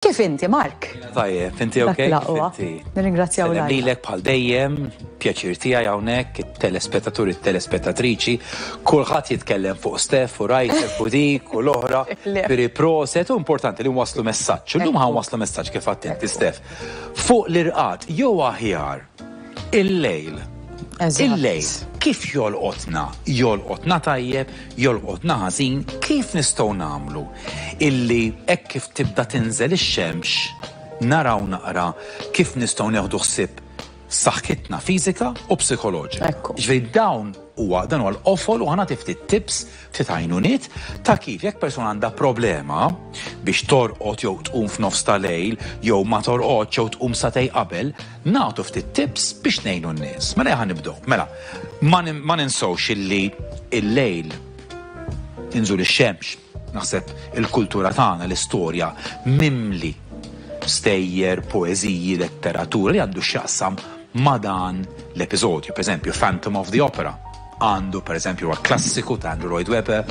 Kif inti, Mark? Tajjeb, inti ok? Dak l-aqwa. Nirringrazzjaw Sellem l lilek bħal dejjem, pjaċir tiegħi hawnhekk, it-telespettaturi, it-telespettatriċi, kulħadd jitkellem fuq Steph u rajtek u dik u l-oħra, Le. Piri proset u importanti li nwasslu messaġġ. Illum ħa nwasslu messaġġ kif għedt inti Steph. Fuq l-irqad jew aħjar il-lejl. Eżatt. Il-lejl kif jolqotna? Jolqotna tajjeb, jolqotna ħażin, kif nistgħu nagħmlu illi hekk kif tibda tinżel ix-xemx naraw naqra kif nistgħu nieħdu ħsieb saħħitna fiżika u psikoloġika. Ekku. Ġifieri dawn huwa dan huwa l-qofol u ħa nagħti ftit tips, ftit għajnuniet ta' kif jekk persuna għandha problema biex torqod jew tqum f'nofs ta' lejl jew ma torqodx jew tqum sagħtejn qabel, nagħtu ftit tips biex ngħinu n-nies. Mela ħa nibdew. Mela, ma nin- ma ninsewx illi il-lejl inżul ix-xemx, naħseb il-kultura tagħna, l-istorja mimli stejjer, poeżiji, letteratura li għandu x'jaqsam ma' dan l-episodju. Per eżempju, Phantom of the Opera għandu per eżempju huwa klassiku ta' Andrew Lloyd Webber,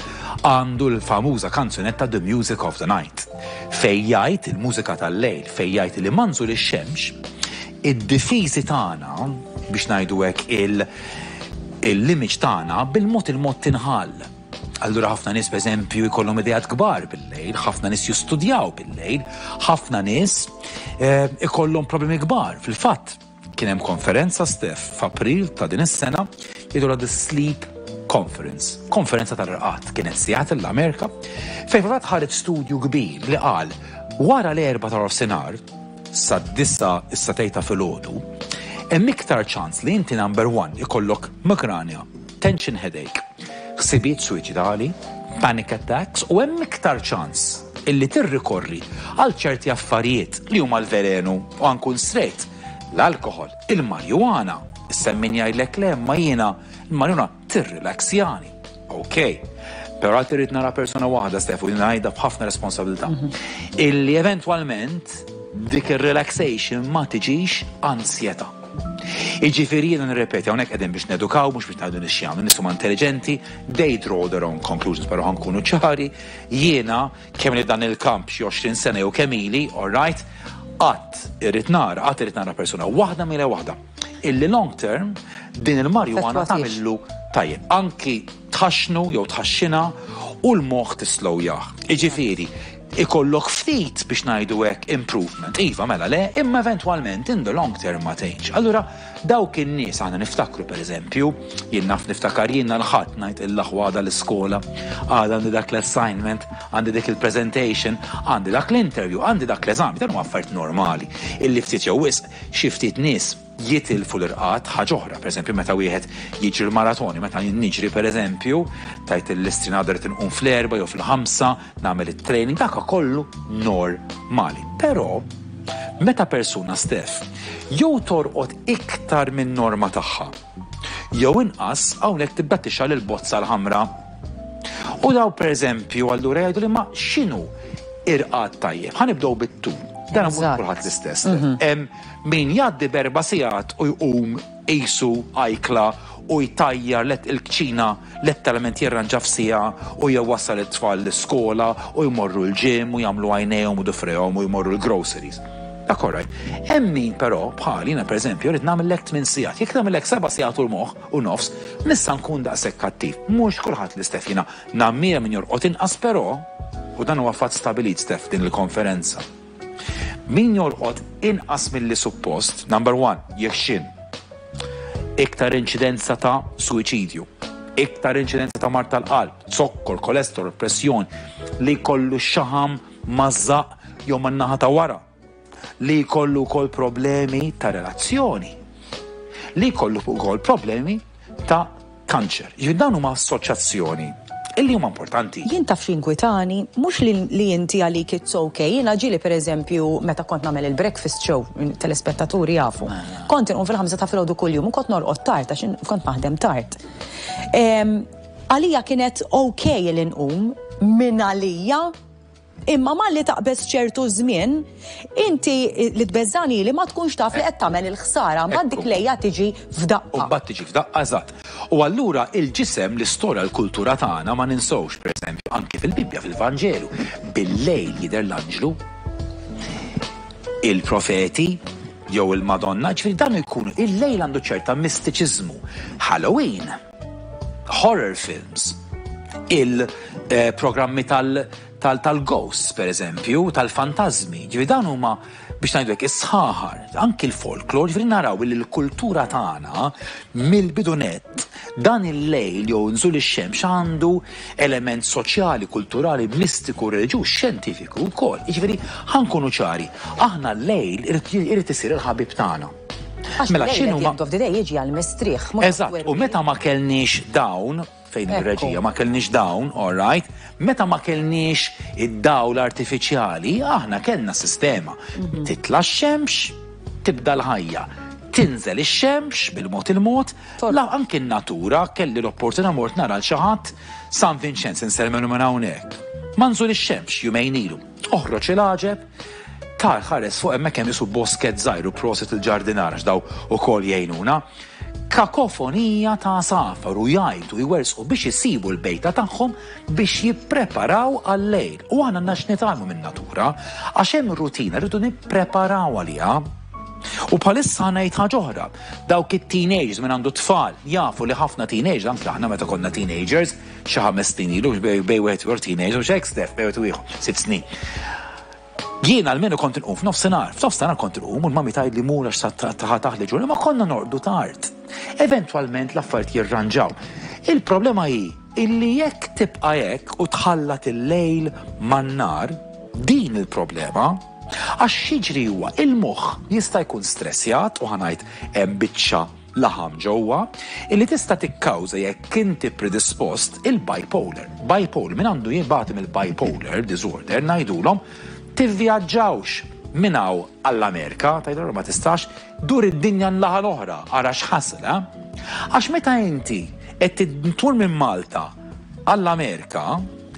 għandu l-famuża kanzunetta The Music of the Night, fej jgħid il-mużika tal-lejl, fej jgħid li ma' nżul ix-xemx, id-difiżi tagħna biex ngħidu hekk il- l-image tagħna bil-mod il-mod tinħall. Allura ħafna nies pereżempju jkollhom ideat kbar bil-lejl, ħafna nies jistudjaw bil-lejl, ħafna nies eh, ikollhom problemi kbar. Fil-fatt, kien hemm konferenza Steph f'April ta' din is-sena jgħidulha The Sleep Conference, konferenza tal-irqad kienet Seattle l-Amerika, fejn fil-fatt ħareġ studju kbir li qal wara l-4 ta' nofsinhar sa 9 is-sagħtejn ta' filgħodu, hemm iktar ċans li inti number one ikollok migranja, tension headache, ħsibijiet suwiċidali, panic attacks u hemm iktar ċans illi tirrikorri għal ċerti affarijiet li huma l-velenu u ħa nkun straight, l-alkohol, il-marijuana. Issa min jgħidlek le ma jiena il-marijuana tirrilaxjani. Ok. Però għad irrid nara persona waħda, Steph, u ngħidha b'ħafna responsabilità. Illi eventwalment dik ir-relaxation ma tiġix ansjetà. Iġifieri jiena nirrepeti hawnhekk qegħdin biex nedukaw, mhux biex ngħidu nixjanu, nies huma intelligenti, they draw their own conclusions, però ħa nkunu ċari, jiena kemm li dan il-kamp xi 20 sena jew kemm ili, all right, qatt irrid nara, qatt irrid nara persuna waħda mila waħda illi long term din il-marijuana Effettwatix. tagħmillu tajjeb. Anki tħaxnu jew tħaxxina u l-moħħ tislowjah. Iġifieri, ikollok ftit biex ngħidu hekk improvement. Iva, mela le, imma eventwalment in the long term ma tgħinx. Allura dawk in-nies aħna niftakru pereżempju, jien naf niftakar jiena l-ħadd ngħid il-aħwa għada l-iskola, għada għandi dak l-assignment, għandi dik il-presentation, għandi dak l-interview, għandi dak l-eżami, dan huma affarijiet normali. Illi ftit jew wisq xi ftit nies jitilfu l-irqad ħaġa oħra, pereżempju meta wieħed jiġri l-maratoni, meta jien niġri pereżempju, tajt l-istrinada rrid inqum fl-4 jew fil-5, nagħmel it-training, dak kollu normali. Però meta persuna Steph jew torqod iktar minn norma tagħha, jew inqas hawnhekk tibda tixgħel il-bozza l-ħamra. U daw pereżempju allura jgħidu li ma x'inhu irqad tajjeb. Ħa nibdew bit-tul. Dan mhux kulħadd l-istess. Hemm min jgħaddi b'erba' sigħat u jqum qisu ajkla u jtajjar let il-kċina letteralment jirranġa f'siegħa u jew wassal it-tfal l-iskola u jmorru l-gym u jagħmlu għajnejhom u dufrejhom u jmorru l-groceries. Dak all right. Hemm min però bħal jiena pereżempju rrid nagħmellek 8 sigħat. Jekk nagħmellek 7 sigħat u l-moħħ u nofs, nista' nkun daqshekk kattiv. Mhux kulħadd l-istess jiena nammira min jorqod inqas però u dan huwa fatt stabilit Steph din il-konferenza. Min jorqod inqas milli suppost, number one, jekk iktar inċidenza ta' suwiċidju, iktar inċidenza ta' mard tal-qalb, zokkor, kolesterol, pressjoni, li jkollu xaħam maż-żaqq jew man-naħa ta' wara, li jkollu wkoll problemi ta' relazzjoni, li jkollu wkoll problemi ta' kanċer. Jiġifieri dawn huma assoċjazzjoni illi huma importanti. Jien taf x'inkwitani, mhux li inti għalik it's okay. Jiena ġieli pereżempju meta kont nagħmel il-breakfast show, telespettaturi jafu. Kont inqum fil-5 ta' filgħodu kuljum u kont norqod tard għax kont naħdem tard. Għalija kienet okay li nqum minn għalija, imma malli taqbeż ċertu żmien, inti li tbeżżani li ma tkunx taf li qed tagħmel il-ħsara, mbagħad dik lejja tiġi f'daqqa. U mbagħad tiġi f'daqqa eżatt. U allura il-ġisem, l-istorja, l-kultura tagħna ma ninsewx, pereżempju, anki fil-Bibbja, fil-Vanġelu, bil-lejl jidher l-anġlu. Il-profeti jew il-Madonna, ġifieri dan ikunu il-lejl għandu ċerta mistiċiżmu. Halloween, horror films, il-programmi tal-ghosts, per eżempju, tal-fantasmi, ġifieri dan huma biex ngħidu hekk is-sħaħar, anki l-folklor, ġifieri naraw li l-kultura tagħna mill-bidu nett dan il-lejl jew nżul ix-xemx għandu element soċjali, kulturali, mistiku, reliġjuż, xjentifiku wkoll. Jiġifieri ħa nkunu ċari, aħna l-lejl irid isir il-ħabib tagħna. Mela x'inhu ma of the day jiġi għall-mistrieħ. Eżatt, u meta ma kellniex dawn, fejn ir-reġija ma kellniex dawn, all right, meta ma kellniex id-dawl artifiċjali, aħna kellna sistema. Mhm. Titla' x-xemx, tibda l-ħajja. Tinżel ix-xemx bil-mod il-mod, la anki n-natura kelli l-opportunità mort nara l xi ħadd San Vincenz insellmelu minn hawnhekk. Ma nżul ix-xemx jumejn ilu. Oħroġ il-għaġeb, tar ħares fuq hemmhekk hemm isu bosket żgħir u prosit il-ġardinar għax daw ukoll jgħinuna. Kakofonija ta' għasafar u jgħajtu jwerżqu biex isibu l-bejta tagħhom biex jippreparaw għal-lejl. U aħna għandna x'nitgħallmu min-natura għax hemm rutina rridu nippreparaw għaliha. U bħalissa ħa ngħid ħaġa oħra. Dawk it-teenagers min għandu tfal jafu li ħafna teenagers anke aħna meta konna teenagers xi ħames snin ilu bejn wieħed u ieħor teenagers mhux hekk Steph bejn wieħed u ieħor sitt snin. Jien almenu kont inqum f'nofsinhar, f'nofsinhar kont inqum u l-mami tgħidli mur għax sa taħli ġurnata, ma konna norqdu tard. Eventwalment l-affarijiet jirranġaw. Il-problema hi illi jekk tibqa' hekk u tħallat il-lejl man-nhar, din il-problema. Għax x'jiġri huwa il-moħħ jista' jkun stressjat u ħa ngħid hemm biċċa laħam ġewwa, illi tista' tikkawża jekk inti predispost il-bipolar. Bipolar, min għandu jibati mill-bipolar disorder ngħidulhom tivvjaġġawx minn hawn għall-Amerika, tgħidilhom ma tistax, dur id-dinja n-naħa l-oħra, ara x'ħasel, eh? Għax meta inti qed tmur minn Malta għall-Amerika,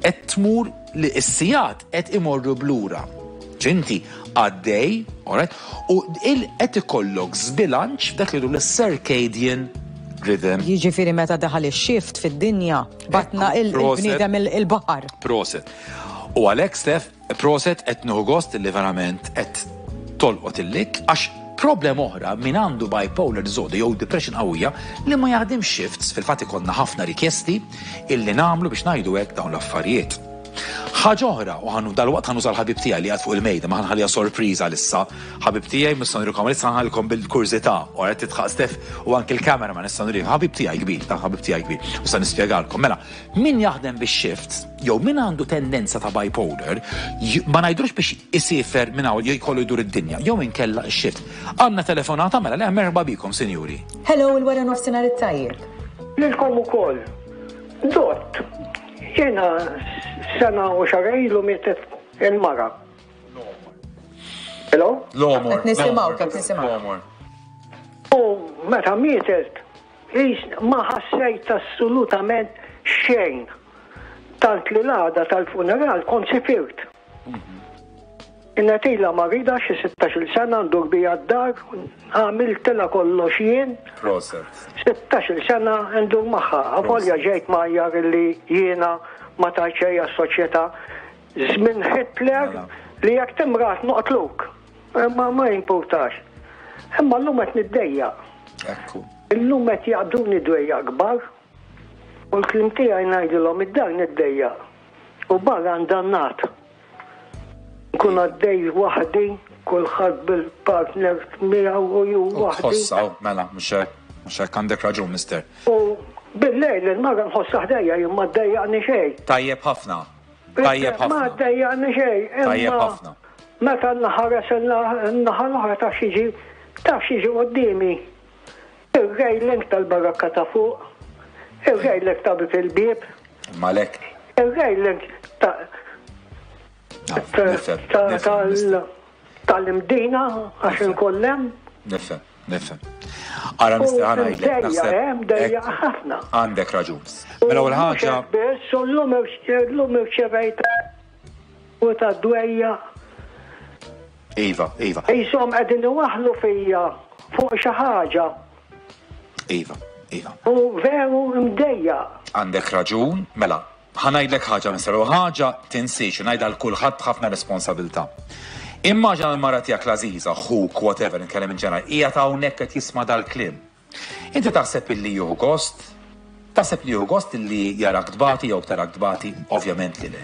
qed tmur li s-sigħat qed imorru b'lura. Inti għaddej, alright, u qed ikollok żbilanċ f'dak li jgħidu l-circadian rhythm. Jiġifieri meta daħal ix-shift fid-dinja, batna il-bniedem il-baħar. Proset. U għalhekk Steph, proset qed nieħu gost li verament qed tolqot il-lik għax problem oħra min għandu bipolar disorder jew depression qawwija li ma jaħdimx shifts, fil-fatt ikollna ħafna rikjesti illi nagħmlu biex ngħidu hekk dawn l-affarijiet. Ħaġa oħra, u ħanu dalwaqt ħa nuża l-ħabib tiegħi li qiegħed fuq il-mejda, ma ħanħalliha sorpriża għalissa. Ħabib tiegħi mhux se nurikom għalissa ħanħallikom bil-kurżità. U qed titħaq Steph u anki l-cameraman issa nurikom. Ħabib tiegħi kbir, ta' ħabib tiegħi kbir. U se nispjegalkom. Mela, min jaħdem bix-shifts jew min għandu tendenza ta' bipolar, ma ngħidlux biex isiefer minn hawn jew jkollu jdur id-dinja, jew inkella x-shift. Għandna telefonata mela le merħba bikom, sinjuri. Hello, il-wara nofsinhar it-tajjeb. Lilkom ukoll. Dott, Jiena sena u xahar ilu mietet il-mara. Hello? L-għomor. Qed nisimgħu, qed nisimgħu. U meta mietet, ma ħassejt assolutament xejn. Tant li l-għada tal-funeral kont sifirt. Kienet ilha marida xi sittax-il sena ndur biha d-dar, għamiltilha kollox jien. Proset. Sittax-il sena ndur magħha. Avolja ġejt mgħajjar illi jiena ma tajt xejn għas-soċjetà. Żmien Hitler mela. li jekk timrad noqtluk. Ma ma jimpurtax. Imma llum qed niddejjaq. Ekku. Illum qed jaqbduni dwejjaq kbar. U l-kliem tiegħi ngħidilhom id-dar niddejjaq. U barra ndannat. Nkun għaddej waħdi, kulħadd bil-partner miegħu u ju waħdi. Tħossha, mela, mhux hekk, mhux hekk għandek raġun, mister. U bil-lejl il-mara nħossha ħdejja jien ma ddejjaqni xejn. Tajjeb ħafna. Tajjeb ħafna. Ma ddejjaqni xejn. Tajjeb ħafna. Meta nħares in-naħa l-oħra taf x'jiġi taf x'jiġi quddiemi. Ir-railing tal-barakka ta' fuq, ir-railing ta' bieb il-bieb. Imma għalhekk. Ir-railing ta' tal-imdina għax inkun hemm. Nifhem, nifhem. Ara mister ħa ngħidlek naħseb. Dejja ħafna. Għandek raġun. Mela ewwel ħaġa. Biss u llum irċevejt u ta' dwejja. Iva, iva. Qishom qegħdin iwaħħlu fija fuq xi ħaġa. Iva, iva. U veru mdejjaq. Għandek raġun, mela, ħa ngħidlek ħaġa Mister, u ħaġa tinsiex, u ngħidha lil kulħadd b'ħafna responsabilità. Immaġina l-mara tiegħek l-għażiża, ħuk, whatever, nitkellem in ġenerali, qiegħed hawnhekk qed jisma' dal-kliem. Inti taħseb illi jieħu gost? Taħseb li jieħu gost illi jarak tbati jew tarak tbati? Ovvjament li le.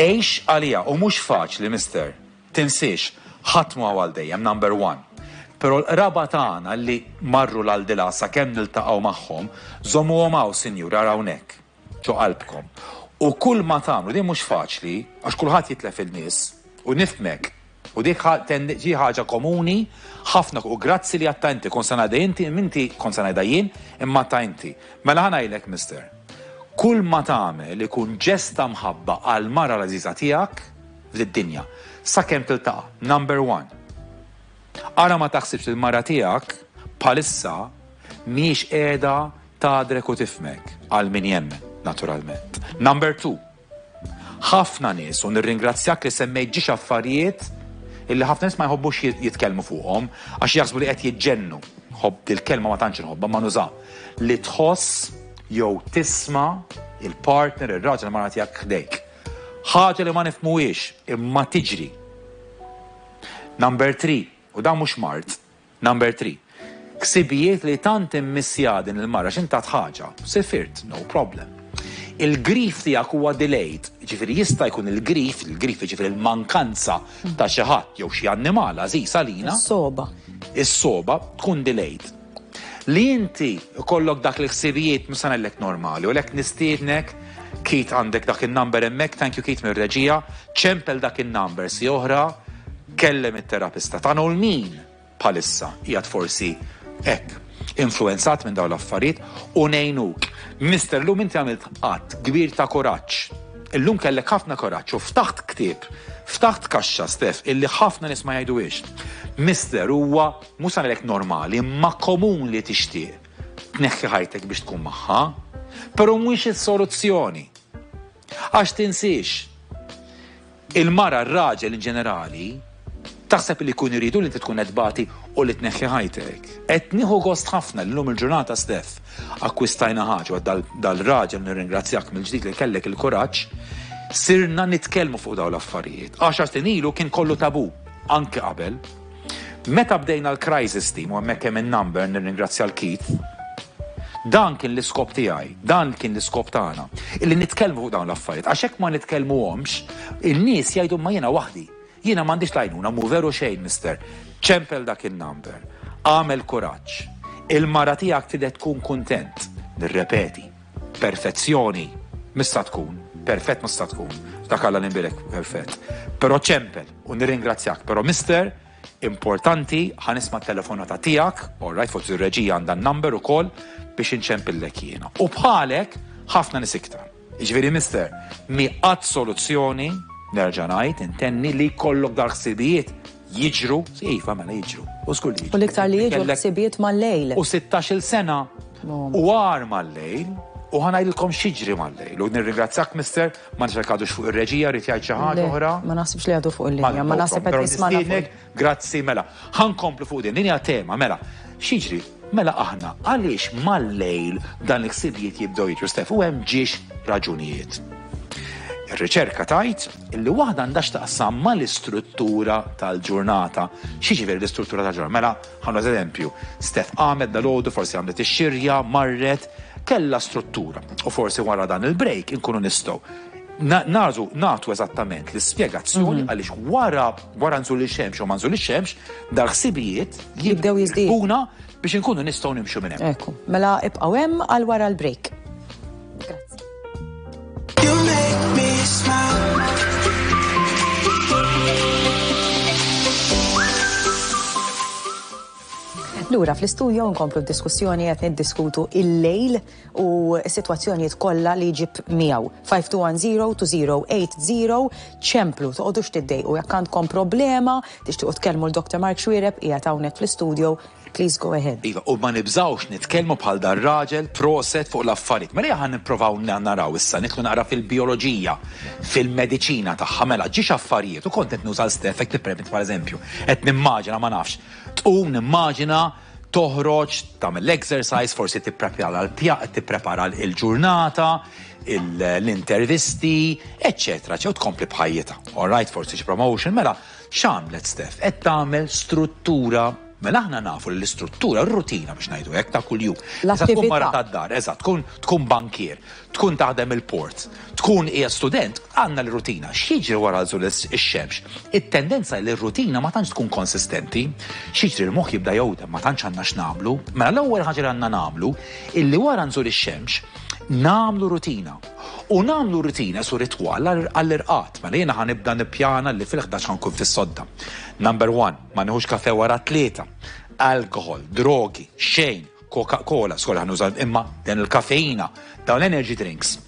Għix għaliha u mhux faċli, mister. Tinsiex, ħadd mhu hawn għal dejjem, number one. Però l-qraba tagħna li marru l-aldilà sakemm niltaqgħu magħhom, żommuhom hawn, sinjuri, ara hawnhekk, ġo qalbkom. U kull ma tagħmlu, din mhux faċli, għax kulħadd jitlef in-nies, u nifhmek, u dik hi ħaġa komuni ħafna, u grazzi li għadtha inti, kont se ngħidha inti, inti kont se ngħidha jien, imma għadtha inti. Mela ħa ngħidlek, mister, kull ma tagħmel ikun ġest ta' mħabba għall-mara l-għażiża tiegħek, f'did-dinja. Sakemm tiltaqa'. Number one. Ara ma taħsibx li l-mara tiegħek bħalissa mhijiex qiegħda tagħdrek u tifhmek, għal min jemmen, naturalment. Number two. Ħafna nies, u nirringrazzjak li semmejt ġiex affarijiet illi ħafna nies ma jħobbux jitkellmu fuqhom għax jaħsbu li qed jiġġennu. Ħobb dil-kelma ma tantx inħobbha ma nuża. Li tħoss jew tisma' il-partner, ir-raġel, il-mara tiegħek ħdejk. Ħaġa li ma nifhmuhiex, imma tiġri. Number 3, u dan mhux mard, number 3. Ksibijiet li tant immissja din il-mara x'int tat ħaġa, sifirt, no problem. Il-grief tiegħek huwa delayed, ġifieri jista' jkun il-grief, il-grief ġifieri l-mankanza ta' xi ħadd jew xi annimal għażiż għalina. Is-sogħba. Is-sogħba tkun delayed. Li inti jkollok dak l-ħsibijiet mhux se ngħidlek normali, u għalhekk nistiednek, Keith għandek dak in-number hemmhekk, thank you Keith mir-reġija, ċempel dak in-number si oħra, kellem it-terapista tagħna u l-min bħalissa qiegħed forsi hekk influenzat minn dawn l-affarijiet u ngħinuk. Mister, llum inti għamilt att kbir ta' kuraġġ. Illum kellek ħafna kuraġġ u ftaħt ktieb, ftaħt kaxxa, Steph, illi ħafna nies ma jgħiduhiex. Mister, huwa Mhux se ngħidlek normali, imma komun li tixtieq tneħħi ħajtek biex tkun magħha. Però mhuwiex is-soluzzjoni. Għax tinsiex, il-mara, r-raġel in ġenerali, taħseb li jkunu jridu li inti tkun qed tbati u li tneħħi ħajtek. Qed nieħu gost ħafna li llum il-ġurnata Steph akkwistajna ħaġa u dal-raġel nirringrazzjak mill-ġdid li kellek il-kuraġġ, sirna nitkellmu fuq dawn l-affarijiet. Għaxar snin ilu kien kollu tabù, anke qabel. Meta bdejna l-crisis team, u hemmhekk hemm in-number, nirringrazzja 'l Keith, dan kien l-iskop tiegħi, dan kien l-iskop tagħna, illi nitkellmu fuq dawn l-affarijiet, għax hekk ma nitkellmuhomx, in-nies jgħidu ma jiena waħdi, jiena m'għandix l-għajnuna, mhu veru xejn, mister. Ċempel dak in-number, agħmel kuraġġ. Il-mara tiegħek tridek tkun kuntent. Nirrepeti, perfezzjoni mhux sa tkun, perfett mhux sa tkun, dak Alla l-imbierek perfett. Però ċempel. U nirringrazzjak, però mister, importanti, ħa nisma' t-telefonata tiegħek, all right, forsi r-reġija għandha n-number ukoll biex inċempillek jiena. U bħalek ħafna nies iktar. Jiġifieri mister, mhi qatt soluzzjoni, nerġa' ngħid, intenni li jkollok dal-ħsibijiet jiġru, iva mela jiġru, u żgur li jiġru. U l-iktar li jiġru ħsibijiet mal-lejl. U 16-il sena u agħar mal-lejl, u ħa ngħidilkom x'jiġri mal-lejl. U nirringrazzjak mister, Ma nafx jekk għadux fuq ir-reġija, rrid jgħid xi ħaġa oħra. Ma naħsibx li għadu fuq il-linja, ma naħseb qed jismagħna. Grazzi, mela. Ħa nkomplu fuq din, din hija tema, mela. X'jiġri? Mela aħna għaliex mal-lejl dan il-ħsibijiet jibdew jiġru Stef u hemm ġiex raġunijiet. Ir-riċerka tgħid illi waħda għandha x'taqsam mal-istruttura tal-ġurnata. X'jiġifieri l-istruttura tal-ġurnata? Mela, ħa nagħti eżempju. Stef qamet dalgħodu, forsi għamlet ix-xirja, marret, kellha struttura u forsi wara dan il-break inkunu nistgħu nażu nagħtu eżattament l-ispjegazzjoni mhm. għaliex wara wara nżul ix-xemx u ma nżul ix-xemx dal-ħsibijiet jibdew jiżdiedu biex inkunu nistgħu nimxu minn hemm. Ekku, mela ibqgħu hemm għal wara l-break. Grazzi. You make me smile. Lura fl-istudio nkomplu d-diskussjoni qed niddiskutu il-lejl u s-sitwazzjonijiet kollha li jġib miegħu. 5210-2080 ċemplu, toqgħodux tiddejqu jekk għandkom problema, tixtiequ tkellmu l-Dr. Mark Xuereb qiegħed hawnhekk fl-istudio, please go ahead. Iva, u ma nibżgħux nitkellmu bħal dar-raġel proset fuq l-affarijiet. Mela ejja ħa nipprovaw naraw issa, nidħlu naqra fil-bijoloġija, fil-mediċina tagħha. Mela, ġiex affarijiet, u kont qed nuża l-Steph, jekk tippermetti bħala eżempju, qed nimmaġina ma nafx, Tqum nimmaġina Toħroġ, tagħmel l-exercise, forsi tipprepara tipprepara l-ġurnata, l-intervisti, eċċetera, ċew tkompli b'ħajjitha. All right, forsi xi promotion, mela x'għamlet Steph? Qed tagħmel struttura. Mela aħna nafu li l-istruttura, r-rutina biex ngħidu hekk ta' kuljum. Issa tkun mara tad-dar, eżatt, tkun tkun bankier, tkun taħdem il-port, tkun hija student, għandna l-rutina. X'jiġri wara nżul ix-xemx? It-tendenza li r-rutina ma tantx tkun konsistenti. X'jiġri l-moħħ jibda jgħodem, ma tantx għandna x'nagħmlu. Mela l-ewwel ħaġa li għandna nagħmlu illi wara nżul ix-xemx nagħmlu rutina. U nagħmlu rutina su ritwal għall-irqad. Mela jiena ħa nibda nippjana li fil-11 ħa nkun fis-sodda. Number one, Ma nieħux kafe wara t-tlieta. Alkohol, drogi, xejn, Coca-Cola, sorry ħa nuża imma dan il-kafeina, dawn l-energy drinks.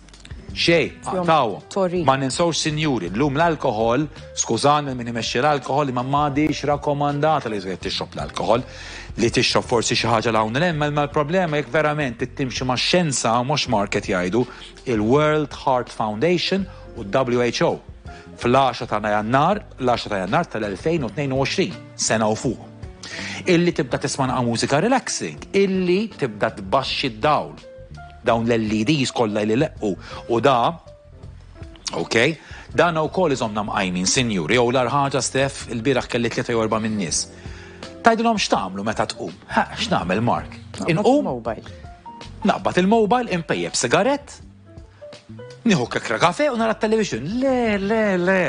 Xejn, aqtgħuhom. Ma ninsewx sinjuri, llum l-alkohol, skużani min imexxi l-alkohol, imma m'għadhiex rakkomandata li wieħed tixrob l-alkohol. Li tixrob forsi xi ħaġa 'l hawn 'l hemm, imma l-problema jekk verament trid timxi max-xjenza u mhux market jgħidu, il-World Heart Foundation u d-WHO fl-10 ta' Jannar, l-10 ta' Jannar tal-2022, sena u fuq. Illi tibda tisma' naqa' mużika relaxing, illi tibda tbaxxi d-dawl. Dawn l-LEDs kollha li leqqu u da Ok, dan ukoll iżomna mqajmin, sinjuri, jew l ħaġa Stef, il-bieraħ kelli tlieta jew erba' min-nies. Tgħidilhom x'tagħmlu meta tqum? Ha, x'nagħmel Mark? Inqum? Naqbad il-mobile, inpejjep sigarett, nieħu kekra kafe u nara t-television. Le, le, le,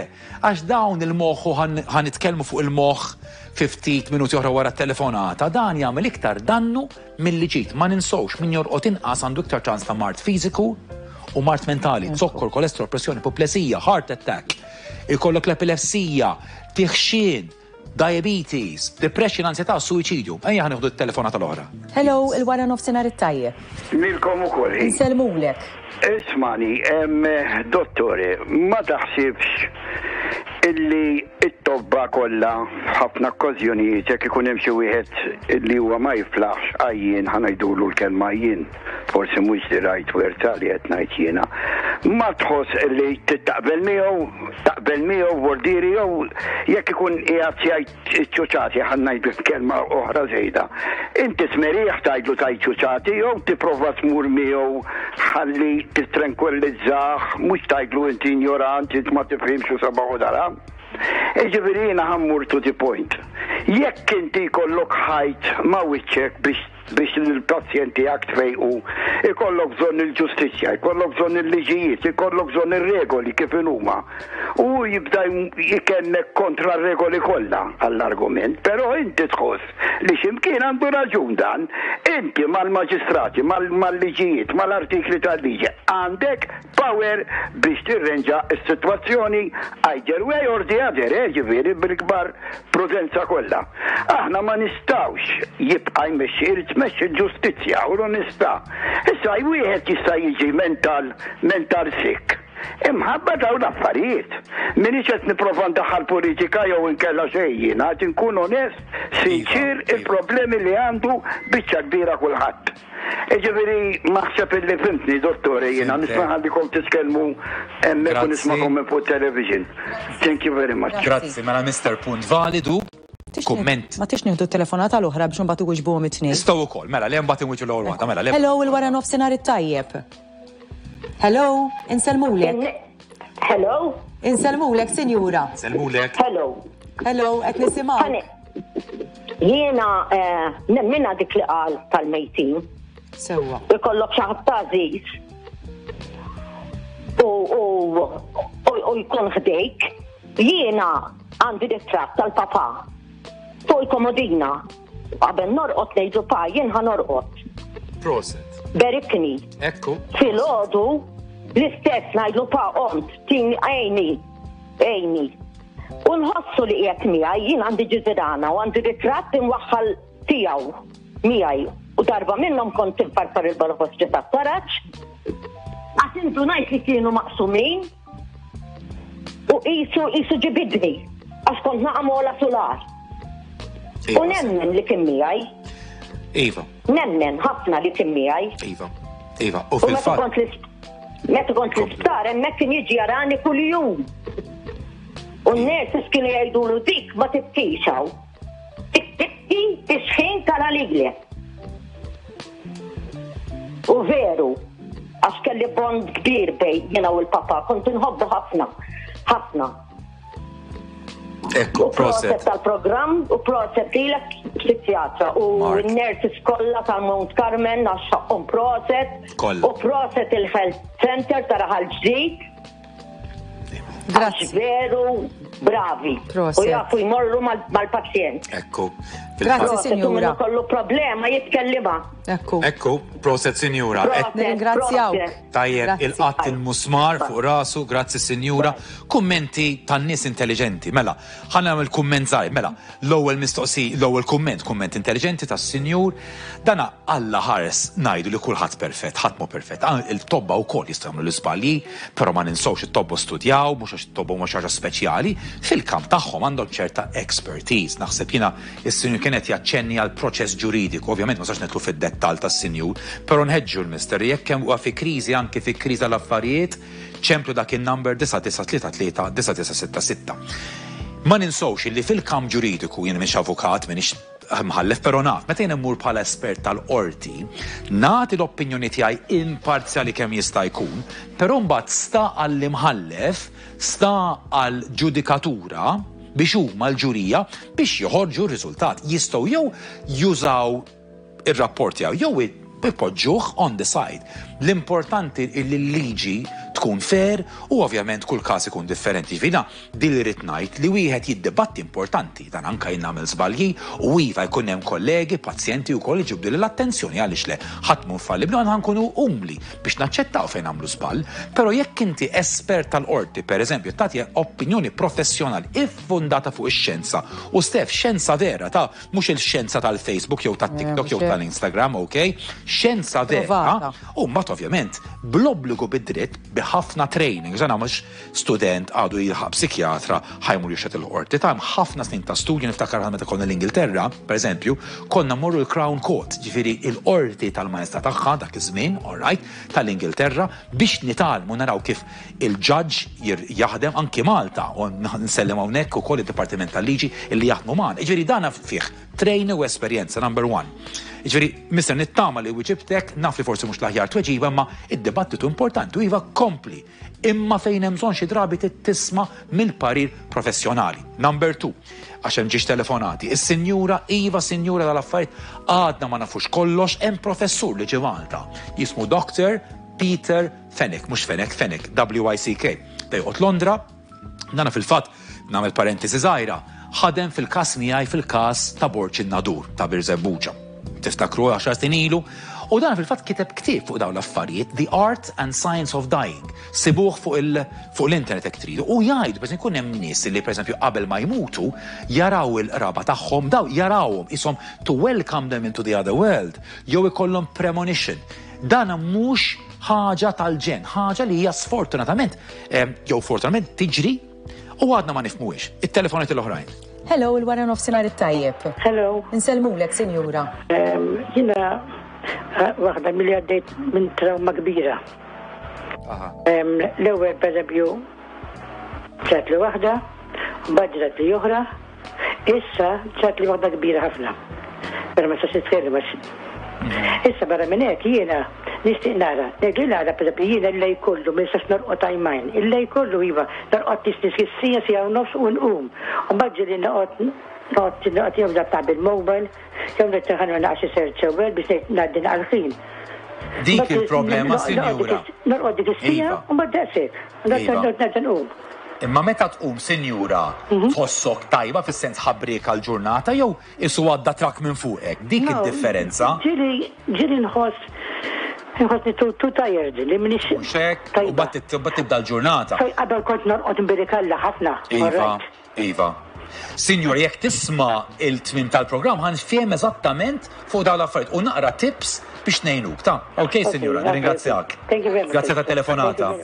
għax dawn il-moħħ u ħa nitkellmu fuq il-moħħ fi ftit minuti oħra wara t-telefonata, dan jagħmel iktar dannu milli ġid. Ma ninsewx min jorqod inqas għandu iktar ċans ta' mard fiżiku u mard mentali, zokkor, kolesterol, pressjoni, puplesija, heart attack, ikollok l-epilepsija, tiħxien, Diabetes, depression, ansjetà, suwiċidju. Ejja ħa nieħdu t-telefonata l-oħra. Hello, il-wara nofsinhar it-tajjeb. Lilkom ukoll. Insellmulek. Ismani, dottore, ma taħsibx illi it-tobba kollha f'ħafna okkażjonijiet jekk ikun hemm xi wieħed li huwa ma jiflaħx għajjien ħa ngħidulu l-kelma għajjien, forsi mhux the right word ta' li qed ngħid jiena, ma tħoss li taqbel miegħu, taqbel miegħu vordieri jew jekk ikun qiegħed jgħid iċ-ċuċati ħa ngħidu kelma oħra żejda. Inti tmerih tgħidlu tgħid ċuċati jew tipprova tmur miegħu ħalli titranquillizzah mhux tgħidlu inti injorant, int ma tifhimx u sabaħ u dara. Jiġifieri jiena ħa mmur to the point. Jekk inti jkollok ħajt ma' wiċċek biex biex lill-pazjent tiegħek tfejqu, ikollok bżonn il-ġustizzja, ikollok bżonn il-liġijiet, ikollok bżonn ir-regoli kif inhuma. U hu jibda jkellmek kontra r-regoli kollha għall-argument, però inti tħoss li xi mkien għandu raġun dan. Inti mal-maġistrati, mal-liġijiet, mal-artikli tal-liġi għandek power biex tirrenġa s-sitwazzjoni either way or the other, eh, ġifieri bil-kbar prudenza kollha. Aħna ma nistgħux jibqa' jmexxi, irid tmexxi l-ġustizzja u l-onestà. Issa wieħed jista' jiġi mental mental sick. Imħabba dawn l-affarijiet. M'iniex qed nipprova ndaħħal politika jew inkella xejn jiena, qed inkun onest, sinċier il-problemi li għandu biċċa kbira kulħadd. Jiġifieri naħseb illi fhimtni, dottore, jiena nista' nħallikom titkellmu hemmhekk u nismagħkom minn fuq television. Thank you very much. Grazzi, mela Mister punt validu. Kumment. Ma tix nieħdu telefonata l-oħra biex imbagħad iwiġbuhom it-tnejn. Nistgħu wkoll, mela le mbagħad inwiġu l-ewwel waħda, mela le. Hello, il-wara nofsinhar it-tajjeb. Hello, insellmulek. Hello. Insellmulek, sinjura. Insellmulek. Hello. Hello, qed nisimgħu. Jiena eh, nemmina dik li qal tal-mejtin. Sewwa. Ikollok xi ħadd għażiż u jkun ħdejk. Jiena għandi ritratt tal-papa fuq il-komodina. Qabel norqod ngħidu pa jien ħa norqod. Proset. Berikni. Ekku. Filgħodu l-istess ngħidlu pa qomt tini għajni. Għinni. U nħossu li qiegħed miegħi, jien għandi ġiżirana u għandi ritratt imwaħħal tiegħu miegħi. U darba minnhom kont infarfar il-balafostri tat-taraġ, għax indunajt li kienu maqsumin u qisu qisu ġibidni għax kont naqa' mola sular. U nemmen li kien miegħi. Iva. Nemmen ħafna li kien miegħi. Iva. Iva. U fil-fatt. Meta kont l-isptar hemmhekk kien jiġi jarani kuljum. U n-nurses kienu jgħidulu dik ma tibkix hawn. Dik tibki tisħin tara lilek. U veru, għax kelli bond kbir bejn jiena u l-papa, kont inħobbu ħafna, ħafna. Ekku, proset. tal-programm u proset lilek psikjatra u n-nurses kollha ta' Mount Carmen għax ħaqqhom proset. Kollha. U proset il-Health Center ta' Raħal Ġdid. Grazzi. Veru bravi. Proset. U jafu jmorru mal-pazjent. Ekku. Grazzi, sinjura. Kollu problema jitkellima. Ekku. Ekku, proset sinjura. Nirringrazzjawk. Tajjeb, il-qatt il-musmar fuq rasu, grazzi sinjura. Kummenti tan-nies intelligenti. Mela, ħa nagħmel kumment żgħir. Mela, l-ewwel mistoqsi, l-ewwel kumment, kumment intelligenti tas-sinjur. Dana Alla ħares ngħidu li kulħadd perfett, ħadd mhu perfett. Il-tobba wkoll jistgħu jagħmlu l-iżbalji, però ma ninsewx it-tobba studjaw, mhux għax it-tobba huma xi ħaġa speċjali, fil-kamp tagħhom għandhom ċerta expertise. Naħseb jiena is-sinjur kien qed jaċċenni għal proċess ġuridiku, ovvjament ma nistax nidħlu fid-dettall tas-sinjur, però nħeġġu l-mister jekk hemm huwa fi kriżi anki fi kriżi tal-affarijiet, ċemplu dak in-number 9933 9966. Ma ninsewx illi fil-kamp ġuridiku, jien m'iniex avukat, m'iniex mħallef, però naf, meta jien immur bħala espert tal-qorti, nagħti l-opinjoni tiegħi imparzjali kemm jista' jkun, però mbagħad sta għall-imħallef, sta għall-ġudikatura biex huma l-ġurija biex joħorġu r-riżultat. Jistgħu jew jużaw ir-rapport tiegħu jew ipoġġuh on the side. L-importanti li l-liġi tkun fair u ovvjament kull każ ikun differenti. Ġifieri din li rrid ngħid li wieħed jiddibatti importanti, dan anka jien nagħmel żbalji u iva jkun hemm kollegi, pazjenti wkoll iġibdu l-attenzjoni għaliex le ħadd mhu infallibbli għandna nkunu umli biex naċċettaw fejn nagħmlu żball, però jekk inti espert tal-qorti, pereżempju, tagħti opinjoni professjonali iffondata fuq ix-xjenza u Stef xjenza vera ta' mhux il-xjenza tal-Facebook jew tat-TikTok jew tal-Instagram, ok? Xjenza vera u mbagħad ovvjament bl-obbligu bid-dritt bi ħafna training, ġana mhux student għadu jilħaq psikjatra ħa jmur jixhed il-qorti. Ta' ħafna snin ta' studju niftakar meta konna l-Ingilterra, per eżempju, konna morru l-Crown Court, ġifieri il-qorti tal-maestà tagħha dak iż-żmien, all right, tal-Ingilterra biex nitgħallmu naraw kif il-judge jaħdem anki Malta u nsellem hawnhekk ukoll id-Dipartiment tal-Liġi illi jaħdmu magħna. Ġifieri dana fih training u esperjenza number one. Ġifieri, mister nittama li wiġibtek, naf li forsi mhux l-aħjar tweġiba, imma id-dibattitu importanti u iva kompli. Imma fejn hemm bżonn xi drabi tisma' mill-parir professjonali. Number two, għax hemm ġiex telefonati. Is-sinjura Iva Sinjura tal-affarijiet għadna ma nafux kollox, hemm professur li ġie Malta. Jismu Dr. Peter Fenwick, mhux Fenech, Fenwick, W-I-C-K. Da joqgħod Londra, dana fil-fatt nagħmel parentesi żgħira, ħadem fil-każ miegħi fil-każ ta' Borġ in-Nadur ta' Birżebbuġa. Tiftakru 10 snin ilu, u dan fil-fatt kiteb ktieb fuq dawn l-affarijiet, The Art and Science of Dying. Sibuh fuq l-internet jekk tridu. U jgħidu, per jkun hemm nies li pereżempju qabel ma jmutu jaraw il-qraba tagħhom, daw jarawhom ishom to welcome them into the other world, jew ikollhom premonition. Dan mhux ħaġa tal-ġen, ħaġa li hija sfortunatament jew fortunatament tiġri u għadna ma nifhmuhiex. It-telefonati l-oħrajn. Hello, il-wara nofsinhar it-tajjeb. Hello. Insellmulek, sinjura. Jiena waħda milli għaddejt minn trauma kbira. L-ewwel pereżempju ġrat li waħda, mbagħad ġrat li oħra, issa ġrat li waħda kbira ħafna. Però ma nistax nitkellem għax. Issa barra minn hekk jiena nixtieq nara, ngħid li nara pereżempju jiena l-lejl kollu ma nistax norqod għajmajn, il-lejl kollu iva norqod tisnis sija sija u nofs u nqum. U mbagħad ġieli noqgħod noqgħod noqgħod jew naqta' bil-mobile, jew nitteħan naqra xi search ewwel biex ngħid ngħaddi naqra ħin. Dik il-problema, sinjura. Norqod dik is-sija u mbagħad daqshekk. Nerġa' nqum. Imma meta tqum, sinjura, tħossok tajba fis-sens ħabrieka l-ġurnata jew isu għadda trak minn fuqek? Dik id-differenza. Ġieli ġieli nħoss nħossni too tired li m'iniex. Mhux hekk, u mbagħad tibda l-ġurnata. Fej qabel kont norqod nbirikalla ħafna. Iva, iva. Sinjur, jekk tisma' il-tmiem tal-programm ħa nfhem eżattament fuq dawn l-affarijiet u naqra tips biex ngħinuk. Ta' ok, sinjura, nirringrazzjak. Thank you very much. Grazzi tat-telefonata.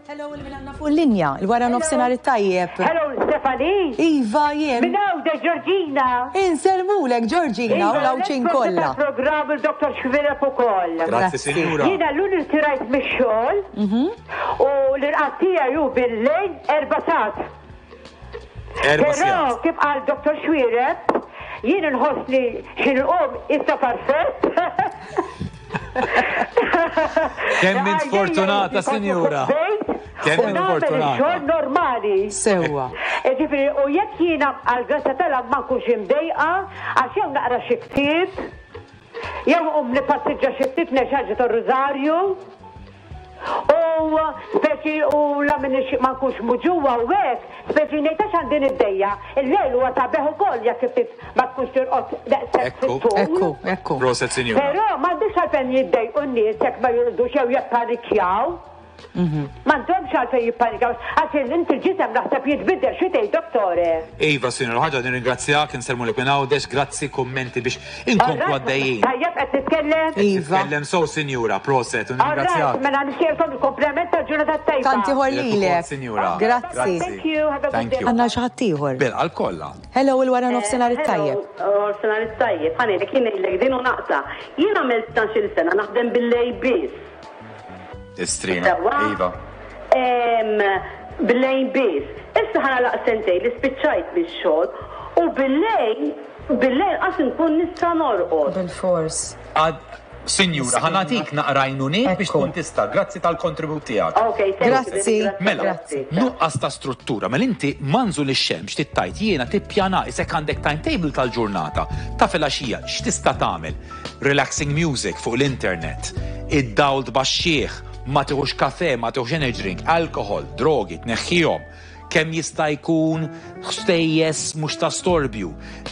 Hello, il għandna fuq il-linja, il-wara nofsinhar it-tajjeb. Hello, Stefani. Iva, jien. Minn Għawdex, Georgina. Insellmulek, Georgina, u l-Għawdxin kollha. Program il-Dr. Xuereb ukoll. Grazzi, sinjura. Jiena l-lum irtirajt mix-xogħol u l-irqad tiegħi hu bil-lejl 4 sigħat. Erba' Però sigħat. kif qal Dr. Xuereb, jien inħossni xi nqum issa perfett. Kemm int fortunata, sinjura. Kemm int fortunata. Xogħol normali. Sewwa. Ġifieri, u jekk jiena għall-grazzja tal ma nkunx imdejqa, għax jew naqra xi ktieb, jew nqum nippassiġġa xi ftit ngħix tar-rużarju. U speċi u la minix ma nkunx muġugħa u hekk, speċi ngħid għax għandi niddejjaq. Il-lejl huwa sabiħ ukoll jekk ftit ma tkunx tirqod daqshekk fit-tul. Ekku, ekku. Proset, sinjura. Però m'għandux għalfejn jiddejqu n-nies jekk ma jorqdux jew jippanikjaw. M'għandhomx għalfejn jippanikaw għax inti l-ġisem naħseb jitbiddel xi tgħid dottore? Iva, sinjura, ħaġa nirringrazzjak, insellmulek minn Għawdex, grazzi, kummenti biex inkomplu għaddejjin. Tajjeb qed nitkellem? Iva. Tkellem sew, sinjura, proset, u nirringrazzjak. Mela nixtieqlkom il-kumplament tal-ġurnata tajba. Tant ieħor lilek. Sinjura. Grazzi. Thank you, have a good day. Għandna xi ħadd ieħor. Bil-qalb kollha. Hello, il-wara nofsinhar it-tajjeb. Nofsinhar it-tajjeb. Ħa ngħidlek, jien ngħidlek din u naqta'. Jien għamilt 12-il sena naħdem bil-lejl biss. Istrina. Iva. Bil-lejl biss. Issa ħa nagħlaq sentejn li spiċċajt mix-xogħol u bil-lejl bil-lejl qas inkun nista' norqod. Bilfors. Sinjura, ħa nagħtik naqra għajnuniet biex tkun tista'. Grazzi tal-kontribut tiegħek. Ok, thank you. Grazzi. Mela, nuqqas ta' struttura. Mela inti manżul ix-xemx tittajt jiena tippjana isek għandek timetable tal-ġurnata ta' filgħaxija x'tista' tagħmel. Relaxing music fuq l-internet, id-dawl tbaxxih, ma tiħux kafè, ma tiħux energy drink, alkohol, drogi, tneħħihom. Kemm jista' jkun ħstejjes mhux ta' storbju,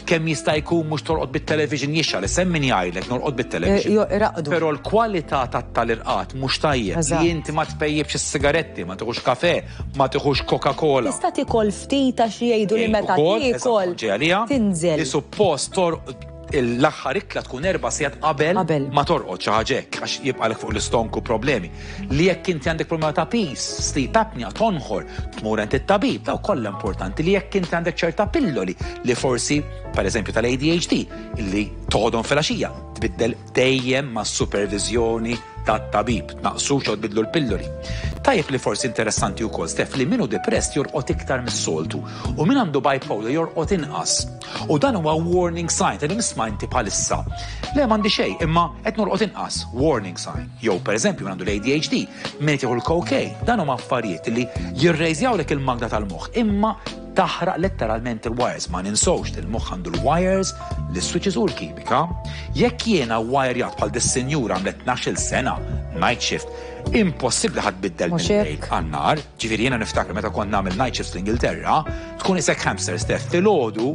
kemm jista' jkun mhux torqod bit-television jixgħal, issa hemm min jgħidlek norqod bit-television. Eh, iraqdu. Però l-kwalità tal-irqad mhux tajjeb li inti ma tpejjibx is-sigaretti, ma tiħux kafè, ma tiħux Coca-Cola. Tista' tikol ftit għax jgħidu li meta tiekol tinżel. Li suppost torqod l-aħħar ikla tkun erba' sigħat qabel ma torqod xi ħaġa hekk għax jibqalek fuq l-istonku problemi. Li jekk inti għandek problema ta' piż, sleep apnea, tonħor, tmur għand it-tabib, daw kollha importanti li jekk inti għandek ċerta pilloli li forsi pereżempju tal-ADHD li toħodhom filgħaxija tbiddel dejjem mas-superviżjoni tat-tabib, tnaqqsux jew tbiddlu l-pilloli. Tajjeb li forsi interessanti wkoll Steph li min hu depressed jorqod iktar mis-soltu u min għandu bipolar jorqod inqas. U dan huwa warning sign ta' nisma' inti bħalissa. Le m'għandi xejn, imma qed norqod inqas, warning sign. Jew pereżempju min għandu l-ADHD, min qed jieħu l-cocaine, dan huma affarijiet li jirrejżjawlek il-magna tal-moħħ imma taħraq letteralment il-wires. Ma ninsewx li l-moħħ għandu l-wires, l-switches u l-kimika. Jekk jiena wirejat bħal dis-sinjura għamlet 12-il sena night shift, impossibbli ħadd biddel mill-lejl għan-nar. Ġifieri jiena niftakar meta kont nagħmel night shifts l-Ingilterra, tkun isek hamster Steph filgħodu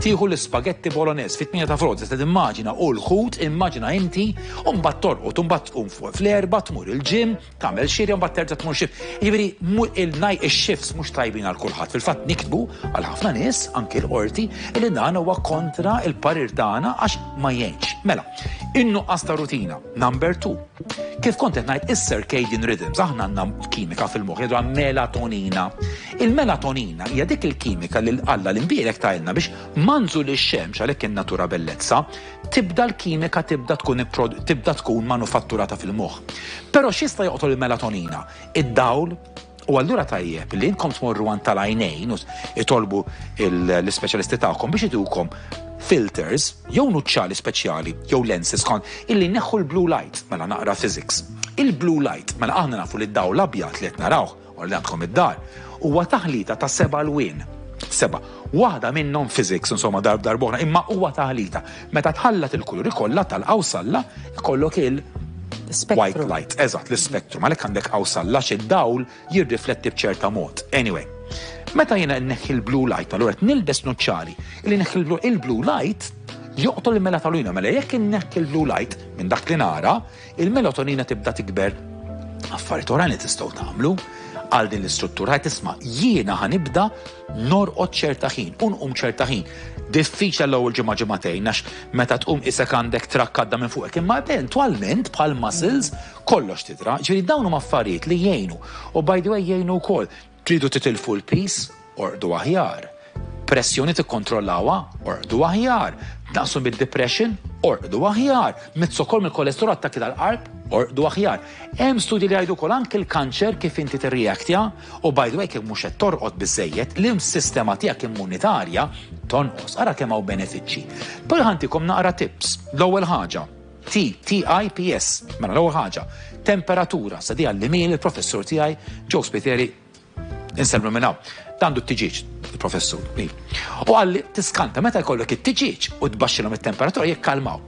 tieħu l-ispagetti bolognese fit-8 ta' filgħodu tista' timmaġina u l-ħut immaġina inti u mbagħad torqod u mbagħad tqum fuq fl-erba' tmur il-gym tagħmel xirja mbagħad terġa' tmur shift. Jiġifieri il-night ix-shifts mhux tajbin għal kulħadd. Fil-fatt niktbu għal ħafna nies anki l-qorti li dan huwa kontra il-parir tagħna għax ma jgħinx. Mela, in-nuqqas ta' rutina, number 2. Kif kont qed ngħid is-circadian rhythms, aħna għandna kimika fil-moħħ jgħidu melatonina. Il-melatonina hija dik il-kimika li Alla l-imbierek tajlna biex manżu lix-xemx għalhekk in-natura bellezza tibda l-kimika tibda tkun tibda tkun manufatturata fil-moħħ. Però x'jista' joqtol il-melatonina? Id-dawl, u allura tajjeb li intkom tmorru għand tal-għajnejn u itolbu l-ispeċjalisti tagħkom biex itukom filters jew nuċċali speċjali jew lenses kon illi neħħu l-blue light mela naqra physics. Il-blue light mela aħna nafu li d-dawl abjad li qed narawh u li għandkom id-dar huwa taħlita ta' seba' lwien. Seba'. Waħda minnhom physics, insomma darb darb'oħra, imma huwa taħlita. Meta tħallat il-kuluri kollha tal-qawsalla, ikollok il white light, eżatt, l-spektrum, għalhekk għandek qawsalla xi dawl jirrifletti b'ċerta mod. Anyway, meta jiena nneħħi l-blue light, allura qed nilbes nuċċali, li neħħi il-blue light joqtol il-melatonina, mela jekk inneħħi l-blue light minn dak li nara, Il-melatonina tibda tikber. Affarijiet oħrajn li tistgħu tagħmlu għal din l-istruttura qed tisma' jiena ħa nibda norqod ċerta ħin u nqum ċerta ħin. Diffiċli l-ewwel ġimgħa ġimagħtejn għax meta tqum isek għandek trakk għadda minn fuqek, imma eventwalment bħal muscles kollox tidra. Ġifieri dawn huma affarijiet li jgħinu. U by the way jgħinu wkoll. Tridu titilfu l-piż? Orqdu aħjar. Pressjoni tikkontrollawha? Orqdu aħjar. Tnaqqsu mid-depression? Orqdu aħjar. Mit-sokor mill-kolesterol attakki tal-qalb? Orqdu aħjar. Hemm studji li jgħidu wkoll anke l-kanċer kif inti tirreaktja u by the way kif mhux qed torqod biżejjed, l-sistema tiegħek immunitarja tonqos. Ara kemm hawn benefiċċji. Però ħantikom naqra tips. L-ewwel ħaġa. T, T I P S. Mela l-ewwel ħaġa, temperatura, sa di għallimhieli il-professur tiegħi Joe Spiteri insellmu minn hawn. Għandu t-tiġieġ, il-professur. U qalli tiskanta meta jkollok it-tiġieġ u tbaxxilhom it-temperatura jikkalmaw.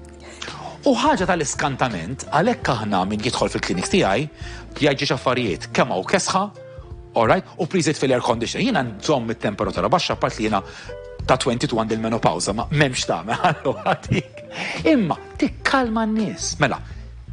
U ħaġa tal-iskantament, għalhekk aħna min jidħol fil-klinik tiegħi jgħid affarijiet kemm hawn kesħa, alright, u please fil-air conditioner. Jiena nżomm it-temperatura baxxa part li jiena ta' 22 għandi l-menopawsa, ma m'hemmx tagħmel allura dik. Imma tikkalma n-nies. Mela,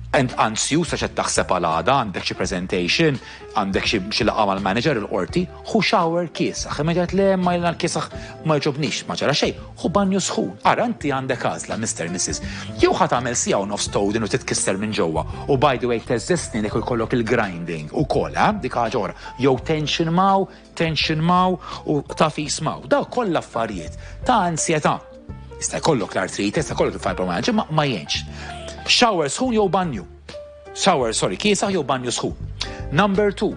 ent ansjus għax qed taħseb għal għada, għandek xi presentation, għandek xi laqgħa mal-manager il-qorti, ħu shower kiesaħ. Imma jgħid le ma jiena l-kiesaħ ma jogħġobnix, ma ġara xejn, ħu banju sħun. Ara inti għandek għażla, Mr. Mrs. Jew ħa tagħmel siegħa u nofs towdin u titkisser minn ġewwa. U by the way teżżes snienek u jkollok il-grinding ukoll, eh? Dik ħaġa oħra. Jew tension maw, tension maw u tafis maw. Daw kollha affarijiet ta' ansjetà. Jista' jkollok l-artrite, jista' jkollok il-fibromyalgia, ma ma jgħinx. Shower sħun jew banju. Shower, sorry, kiesaħ jew banju sħun. Number 2,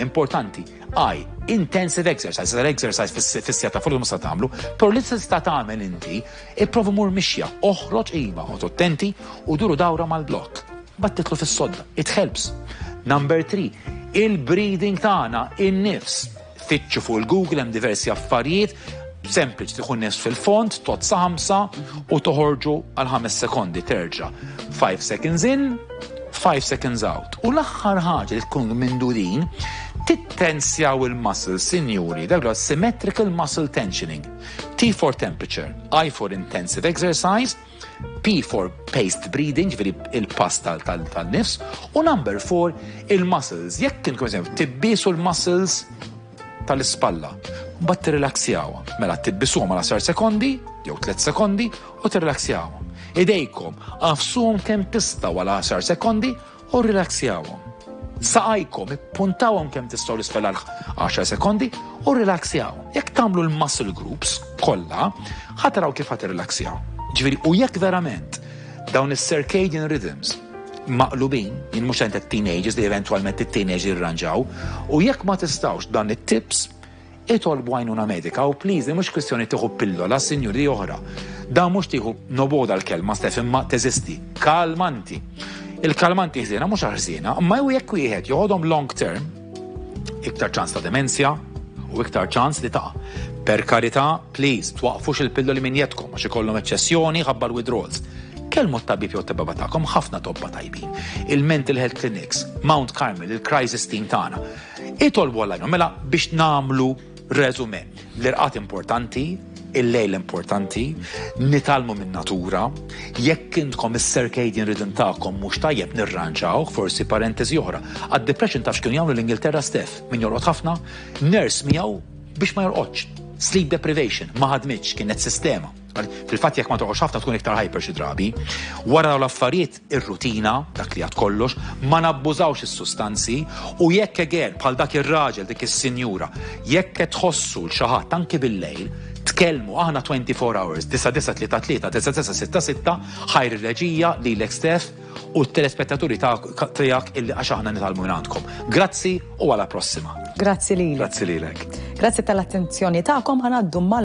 importanti, I, intensive exercise, l-exercise fis-siegħa ta' filgħodu mhux se tagħmlu, però li tista' tagħmel inti, ipprova mur mixja, oħroġ iva, oqgħod attenti u duru dawra mal-blokk. Mbagħad titlu fis-sodda. It helps. Number 3, il-breathing tagħna, in-nifs. Fittxu fuq il-Google hemm diversi affarijiet sempliċi tieħu nifs fil-fond, tgħodd sa 5 u toħorġu għal 5 sekondi terġa'. 5 seconds in, 5 seconds out. U l-aħħar ħaġa li tkun mindudin, tittensjaw il-muscles, sinjuri, dak huwa symmetrical muscle tensioning. T for temperature, I for intensive exercise, P for paced breathing, ġifieri il-pass tal-nifs, u number 4 il-muscles. Jekk intkom eżempju tibbisu l-muscles tal-ispalla, mbagħad tirrilaksjawha. Mela tibbisuhom għal 10 sekondi jew 3 sekondi u tirrilaksjawhom. Idejkom għafsuhom kemm tistgħu għal 10 sekondi u rrilaksjawhom. Saqajkom ippuntawhom kemm tistgħu l-isfel għal 10 sekondi u rrilaksjawhom. Jekk tagħmlu l-muscle groups kollha, ħa taraw kif ħa tirrilaksjaw. Ġifieri u jekk verament dawn is-circadian rhythms maqlubin, jien mhux qed teenagers li eventwalment it-teenagers jirranġaw, u jekk ma tistgħux dan it-tips, itolbu għajnuna medika u please, li mhux kwistjoni tieħu pillola, sinjuri oħra. Dan mhux tieħu noboda l-kelma Stef imma teżisti. Kalmanti. Il-kalmanti ħżiena mhux ħżiena, imma jew jekk wieħed joħodhom long term, iktar ċans ta' demenzja u iktar ċans li taqa'. Per karità, please, twaqfux il-pilloli minn jedkom għax ikollhom eċċessjoni ħabba l-withdrawals. Kellmu t-tabib jew t-tababa tagħkom, ħafna tobba tajbin. Il-mental health clinics, Mount Carmel, il-crisis team tagħna. Itolbu għal mela biex nagħmlu resume. L-irqad importanti, il-lejl importanti, nitgħallmu minn natura, jekk intkom is-circadian rhythm tagħkom mhux tajjeb nirranġaw, forsi parentesi oħra. Għad-depression taf x'kienu jagħmlu l-Ingilterra Stef, min jorqod ħafna, nurse miegħu biex ma jorqodx. Sleep deprivation, ma ħadmitx, kienet sistema. Fil-fatt jekk ma torqodx ħafna tkun iktar hyper xi drabi. Wara dawn l-affarijiet ir-rutina, dak li għad kollox, ma nabbużawx is-sustanzi u jekk again bħal dak ir-raġel dik is-sinjura, jekk qed tħossu l xi ħadd anki bil-lejl, tkellmu aħna 24 hours, 9933 9966 ħajr ir-reġija lilek Stef u t-telespettaturi tiegħek illi għax aħna nitgħallmu minn għandkom. Grazzi u għala prossima. Grazzi lilek. Grazzi lilek. Grazzi tal-attenzjoni tagħkom ħa ngħaddu mal.